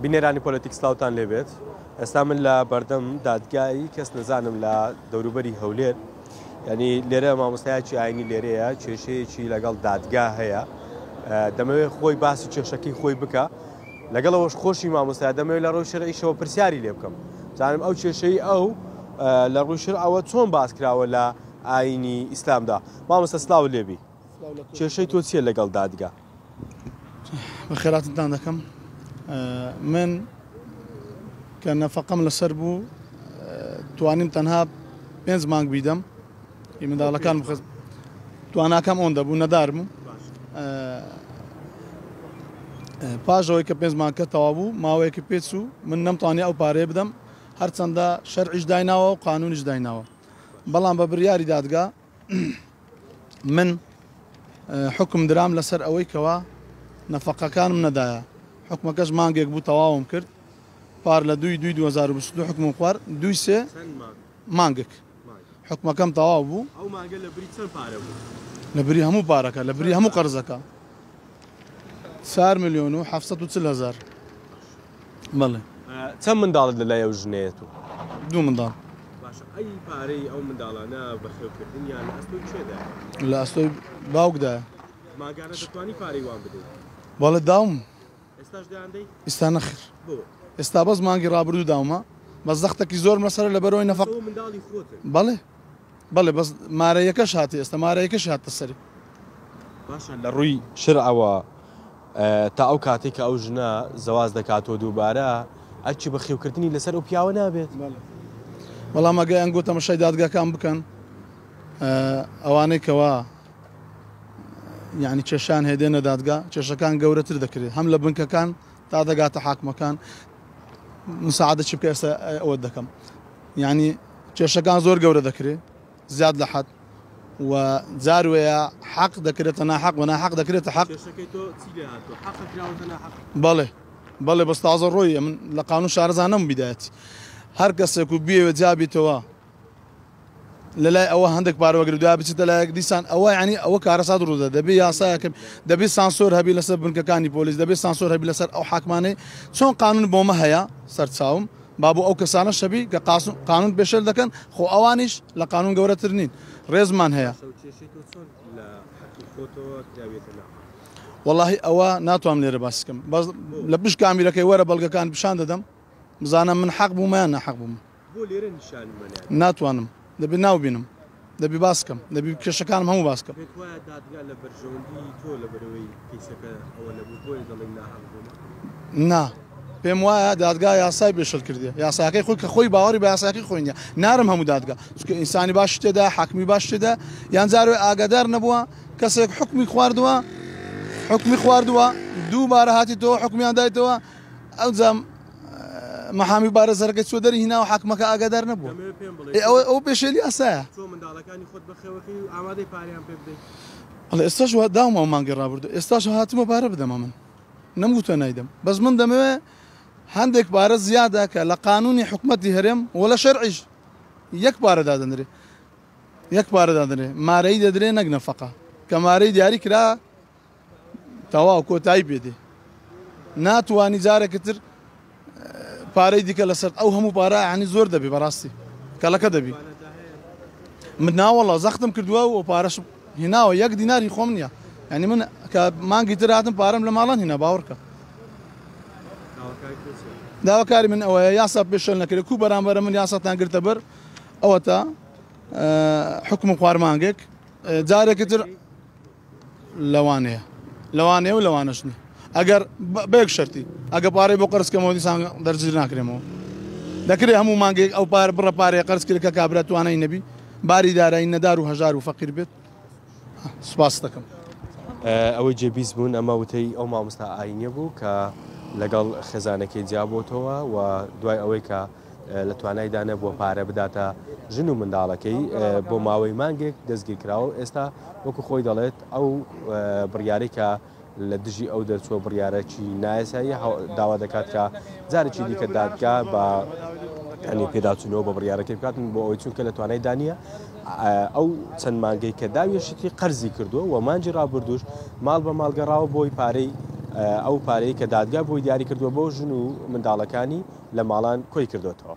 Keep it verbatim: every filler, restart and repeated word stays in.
بینەرانی پۆلەتیک سلااوان لێبێت. ئێستا من لە بەردەم دادگایی کەس نەزانم لە دەوروبەری هەولێر، ینی لێرە مامۆستایەکی ئاینی لێرەیە کێشەیەکی لەگەڵ دادگا هەیە، دەمەوێت خۆی باسی کێشەکەی خۆی بکە، لەگەڵەوەش خۆشی مامۆستا دەمەوێت لە ڕووی شەرعیشەوە پرسیاری لێ بکەم، زانم ئەو کێشەی ئەو لە ڕووی شەرعەوە چۆن باس کراوە لە ئاینی ئیسلامدا. مامۆستا سلااو لێبی، کێشەی تۆ چییە لەگەڵ دادگا؟ بەخێراتتان دەکەم. من کە نەفەقەم لەسەر بوو توانیم تەنها پێنج مانگ بیدەم، منداڵەکان بخست تواناکەم ئەوەندە بوو نەدارم. پاش ئەوەی کە پێنج مانگکە تەواو بوو ماوەیەکی پێچوو من نەمتوانی ئەو پارەیە بدەم، هەرچەندە شەرعیش دایناوە و قانونیش دایناوە، بەڵام بە بڕیاری دادگا من حکم درام لەسەر ئەوەی کەوا نەفەقەکانم نەدایە. حکمەکەش مانگێک بوو تەواوم کرد، پار لە دوی دوی دوو هەزار و بیست و دوو حکمم خوارد، دوی سێ مانگێک حکمەکەم تەواو بوو. ئەو مانگە لە بری چەند پارە بوو؟ لە بری هەموو پارەکە، لە بری هەموو قەرزەکە چوار ملیۆن و حەفسەد و چل هەزار. بەڵێ. چەند منداڵت لەلای ئەو ژنەیە تو؟ دوو منداڵ. باشە، ئەی پارەی ئەو منداڵانە بەخێوکردنیان لە ئەستۆی کێدایە؟ لە ئەستۆی باوکدایە. ماگانە دەتوانی پارەی وان بدەیت؟ بەڵێ داوم. ئێستاش دەیاندەی؟ ئێستا نەخیر. بۆ؟ ئێستا بەس مانگی ڕابردوو داومە، بەس زەختێکی زۆر مەسەرە لەبەرەوەی نەفەق. ئەو منداڵی خۆتن؟ بەڵێ بەڵێ، بەس مارەیەکەش هاتی، ئێستا مارەیەکەش هاتە سەری. باشە، لە ڕووی شەرعەوە تا ئەو کاتێک کە ئەو ژنە زەواز دەکاتەوە دووبارە ئەرکی بەخێوکردنی لەسەر ئەو پیاوە نابێت؟ بەڵام ئەگە ئەنگۆ تەمەشای دادگاکان بکەن، ئەوانەی کەوا یعنی کێشان هێدێنە دادگا، کێشەکان گەورەتر دەکرێت، هەم لە بنکەکان تا دەگاتە حاکمەکان. مساعدە چی بکە ئێستا ئەوە دەکەم، یعنی کێشەکان زۆر گەورە دەکرێت زیاد لە حەد و جاروەیە حەق دەکرێتە ناحەق و ناحەق دەکرێتە حەق. کێشەکەی تۆ چی لێ هاتووە؟ حەق کراوەتە ناحەق؟ بەڵێ بەڵێ، بەس تازە ڕۆیە من لە قانون شارەزانم بیدایەتی. هەر کەسێک و بیەوێت جابیتەوە لە لای ئەوە هەندێک پارەوەگرێت دوای بچێتە لایەک دیسان ئەوە یعنی ئەوە کارەسات ڕوودە. دەبێ یاسایەکە، دەبێ سانسۆر هەبی لەسەر بنکەکانی پۆلیس، دەبێ سانسۆر هەبی لەسەر ئەو حاکمانەی چۆن قانون بۆمە هەیە سەرچاوم، با بۆ ئەو کەسانە شەبی کە قانون پێشێل دەکەن، خۆ ئەوانیش لە قانون گەورەتر نین، ڕێزمان هەیە. وەڵاهی ئەوە ناتوانم لێرە باس بکەم، بەس لە پشت کامیرەکەی وەرە بەڵگەکان پیشان دەدەم بزانم من حەق بوومە یان ناحەق بووم. بۆ لێرە نیشانی منیان؟ ناتوانم، دەبێ ناو بینم، دەبێ باس بکەم، دەبێ کێشەکانم هەموو باس بکەم. پێت وایە دادگا لە بەرژەوەندی تۆ لە بەرەوەی کەیسەکە ئەوە نەبوو بۆیە دەڵێی ناحەق بوومە؟ نا، پێم وایە دادگا یاسای پێشل کردیە، یاساکەی خۆی کە خۆی باوەڕی بە یاساکەی خۆی نییە. نارم هەموو دادگا، چونکە ئینسانی باش تێدا، حاکمی باش تێدا، یان جارێ ئاگادار نەبووە، کەسێک حکمی خواردووە، حکمی خواردووە، دووبارە هاتیتەوە حکمیان دایتەوە، ئەوجا محامی بارەزەرەکەی چوە دەری هیناوە، حاکمەکە ئاگادار نەبووە. دەمەوێت پێم بڵێی ئێ، ئەوە، ئەوە پێشێلی یاسایە. تۆ منداڵەکانی خۆت بەخێوەکەی و ئامادەی پارەیان پێ بدەیت؟ بەڵێ، ئێستاش وا داومە ئەو مانگی ڕابردوو، ئێستاش هاتمە پارە بدەمە، من نەمگوتووە نایدەم، بەس من دەمەوێت هەندێک پارە زیادە کە لە قانونی حکومەتی هەرێم و لە شەرعیش یەک پارە دادەنرێ، یەک پارە دادەنرێ، مارەی دەدرێ نەک نەفەقە، کە مارەی دیاری کرا تەواو کۆتایی پێدێ، ناتوانی جارێکی تر پارەی دیکە لەسەر ئەو هەموو پارە یعنی زۆر دەبی، بەڕاستی کەڵەکە دەبی. من ناوەڵا زەختم کردووە و پارەش هیناوە، یەک دیناری خۆم نییە، یعنی من کە مانگی تر هاتم پارەم لە ماڵان هینا، باوەڕکە. داواکاری من ئەوەیە یاسا پێشێل نەکرێت، کو بەرامبەرە من یاساتان گرتە بەر، ئەوە تا حکم خوارمانگێک جارێکی تر لەوانەیە، لەوانەیە و لەوانەش نییە. ئەگەر بە یەک شەرتی، ئەگە پارەی بۆ قەرز کەمەوە دیسان دەرگیر ناکرێمەوە، دەکرێت هەموو مانگێک ئەو پارە بڕە پارەیە قەرز کرد کە کابرا توانای نەبی، باری دارایی نەدار و هەژار و فەقیر بێت. سوپاس دەکەم. ئەوەی جێبیست بوون ئەمە وتەی ئەو مامۆستا ئاینیە بوو کە لەگەڵ خێزانەکەی جیابۆتەوە و دوای ئەوەی کە لە توانایدا نەبووە پارە بداتە ژن و منداڵەکەی بۆ ماوەی مانگێک دەستگیر کراوە و ئێستا وەکو خۆی دەڵێت ئەو بڕیارەی کە لە دژی ئەو دەرچووە بڕیارێکی نایاسایی داوا دەکات کە جارێکی دیکە دادگا بە ینی پێداچوونەوە بە بڕیارەکەی بکات بۆ ئەوەی چونکە لە توانایدا نییە ئەو چەند مانگەی کە داویشتی قەرزی کردووە و مانگی ڕابردووش ماڵ بە ماڵگەڕاوە بۆی پارەی ئەو پارەی کە دادگا بۆی دیاری کردووە بۆ ژن و منداڵەکانی لە ماڵان کۆی کردوێتەوە.